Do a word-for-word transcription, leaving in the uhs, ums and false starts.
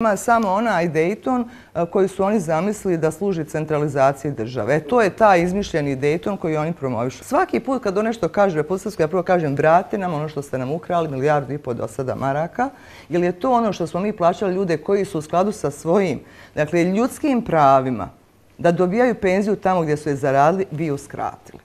Ima samo onaj Dayton koji su oni zamislili da služi centralizaciji države. To je taj izmišljeni Dayton koji oni promovišu. Svaki put kad on nešto kaže Republike, ja prvo kažem vrate nam ono što ste nam ukrali, milijardu i pol do sada maraka, jer je to ono što smo mi plaćali ljude koji su u skladu sa svojim, dakle, ljudskim pravima da dobijaju penziju tamo gdje su je zaradili, vi uskratili.